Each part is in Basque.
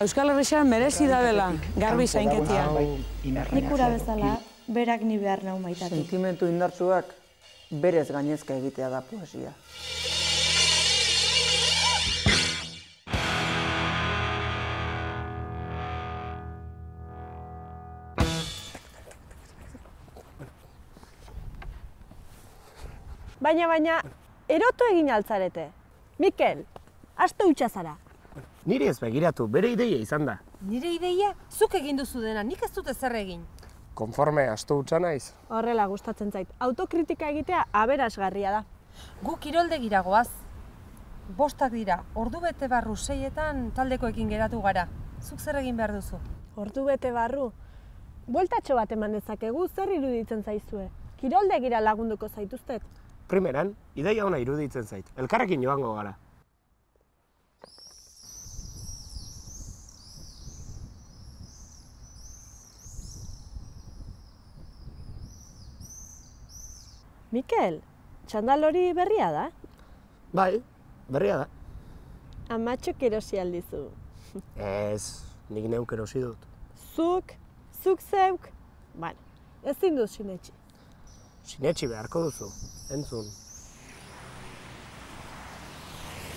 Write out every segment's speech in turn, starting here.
Euskal Herrixan merezi dabela, garbi zainketia. Nik ura bezala, berak ni behar nau maitatu. Sentimentu indartsuak berez gainezka egitea da poesia. Baina, erotu egin altzarete. Mikel, aste hutsa zara. Niri ez begiratu, bere ideia izan da. Nire ideia, zuk egin duzu dena, nik ez dut ezer egin. Konforme astu hutsa naiz. Horrela gustatzen zait. Autokritika egitea aberasgarria da. Gu kiroldegira goaz. 5 dira, ordu bete barru 6etan taldekoekin geratu gara. Zuk zer egin behar duzu? Ordu bete barru. Bueltatxo bat eman dezakegu, zer iruditzen zaizue? Kiroldegira lagunduko zaituztet. Primeran, ideia ona iruditzen zait. Elkarrekin joango gara. Mikel, txandal hori berria da? Bai, berria da. Amatxok erosi aldizu. Ez, nik neuk erosi dut. Zuk zeuk. Bueno, ezin dut sinetxi. Sinetxi beharko duzu, entzun.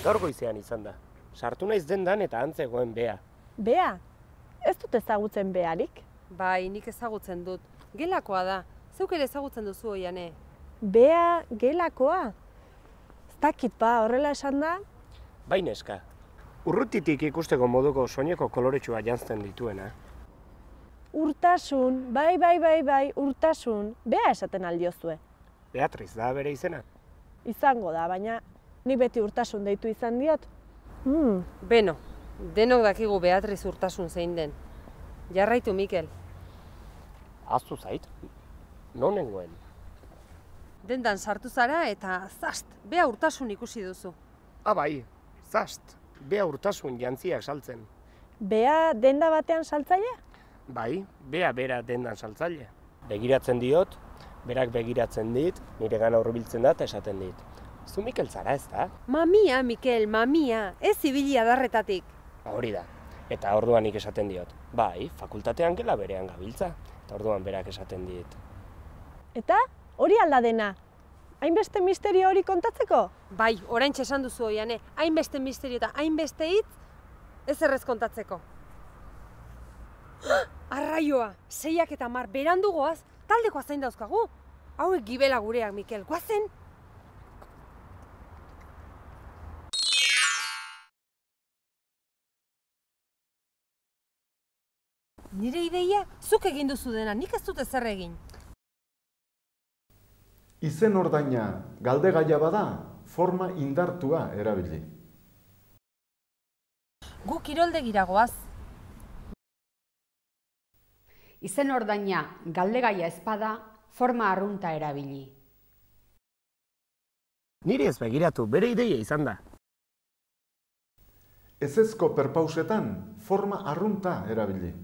Gaur goizean izan da. Sartu naiz dendan eta antzegoen Bea. Bea? Ez dut ezagutzen Bearik. Bai, nik ezagutzen dut. Gelakoa da. Zeuk ere ezagutzen duzu oiane. Bea gelakoa? Ez dakit ba, horrela esan da? Bai neska. Urrutitik ikusteko moduko soineko koloretsua janzten dituena. Urtasun, bai, urtasun. Bea esaten aldiozue. Beatriz da bere izena. Izango da, baina ni beti urtasun deitu izan diot. Beno, denok dakigu Beatriz Urtasun zein den. Jarraitu, Mikel. Ahaztu zait, non nengoen. Dendan sartu zara eta zast, Bea Urtasun ikusi duzu. Bai, zast, Bea Urtasun jantziak saltzen. Bea denda batean saltzailea? Bai, Bea bera dendan saltzaile. Begiratzen diot, berak begiratzen dit, nire gana hurbiltzen da eta esaten dit. Zu Mikel zara ez da? Mamia, Mikel, mamia, ez ibili adarretatik. Hori da, eta orduan nik esaten diot. Bai, fakultatean gela berean gabiltza, eta orduan berak esaten dit. Eta hori alda dena? Hainbeste misterio hori kontatzeko? Bai, oraintxe esan duzu oiane, hainbeste misterio eta hainbeste hitz ez errez kontatzeko. Arraioa, 6 eta 10 berandu goaz, taldekoa zain dauzkagu. Hauek gibela gureak, Mikel, goazen? Nire ideia, zuk egin duzu dena, nik ez dut ezer egin. Izen ordaina galdegaia bada, forma indartua erabili. Gu kiroldegira goaz. Izen ordaina galdegaia ezpada, forma arrunta erabili. Niri ez begiratu, bere ideia izan da. Ezezko perpausetan, forma arrunta erabili.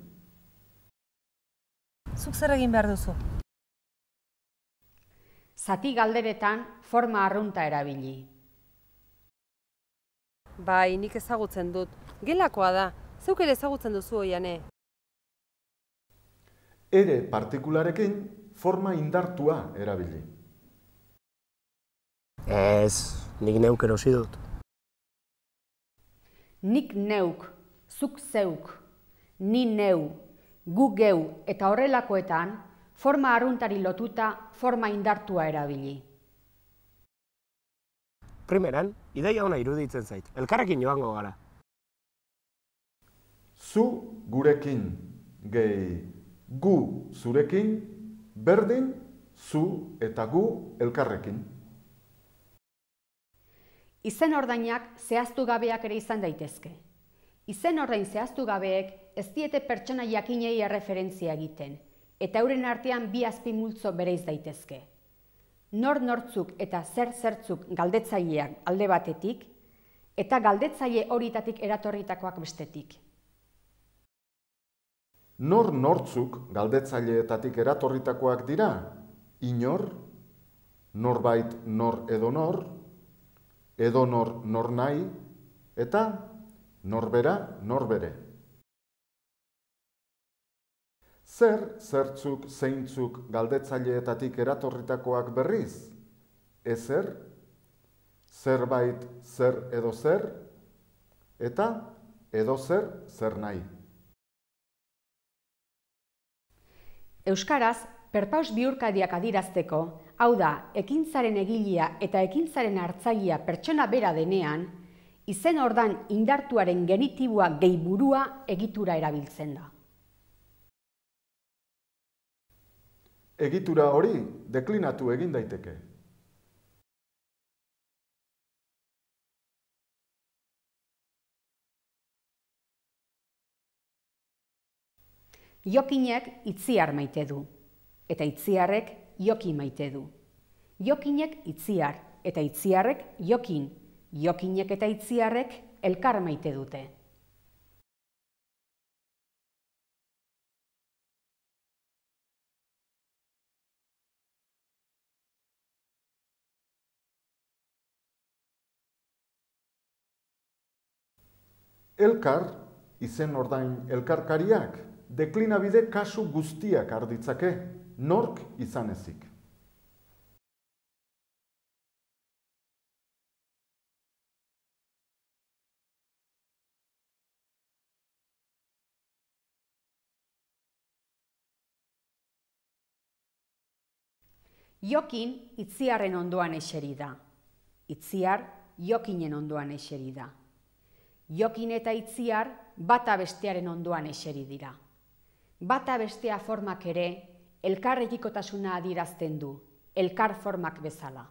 Zuk zer egin behar duzu? Zati galderetan, forma arrunta erabili. Bai, nik ezagutzen dut. Gelakoa da. Zeuk ere ezagutzen duzu oiane. Ere partikularekin, forma indartua erabili. Ez, nik neuk erosi dut. Nik neuk, zuk zeuk, ni neu, gu geu eta horrelakoetan, forma arruntari lotuta, forma indartua erabili. Primeran, ideia ona iruditzen zait. Elkarrekin joango gara. Zu gurekin, gehi gu zurekin, berdin, zu eta gu elkarrekin. Izen ordainak zehaztu gabeak ere izan daitezke. Izen ordain zehaztu gabeek ez diete pertsona jakinei erreferentzia egiten, eta euren artean bi azpimultzo bereiz daitezke. Nortzuk eta zertzuk galdetzaileak alde batetik, eta galdetzaile horietatik eratorritakoak bestetik. Nortzuk galdetzaileetatik eratorritakoak dira, inor, norbait nor, edo nor nahi, eta norbera norbere. Zer, zertzuk, zeintzuk galdetzaileetatik eratorritakoak berriz? Ezer, zerbait, zer edo zer, eta edo zer, zer nahi. Euskaraz, perpaus bihurkadiak adirazteko, hau da, ekintzaren egilea eta ekintzaren hartzailea pertsona bera denean, izen ordan indartuaren genitiboa gehi burua egitura erabiltzen da. Egitura hori deklinatu egin daiteke. Jokinek itziar maite du, eta itziarrek joki maite du. Jokinek itziar, eta itziarrek jokin. Jokinek eta itziarrek elkar maite dute. Elkar, izen ordain elkarkariak, deklinabide kasu guztiak har ditzake, nork izan ezik. Jokin itziarren ondoan eseri da. Itziar jokinen ondoan eseri da. Jokin eta itziar bata bestearen ondoan eseri dira. Bata bestea formak ere elkarrekikotasuna adierazten du, elkar formak bezala.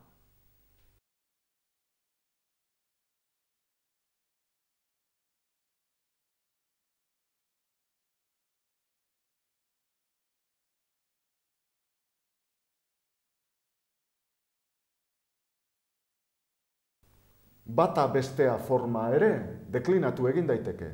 Bata bestea forma ere deklinatu egin daiteke.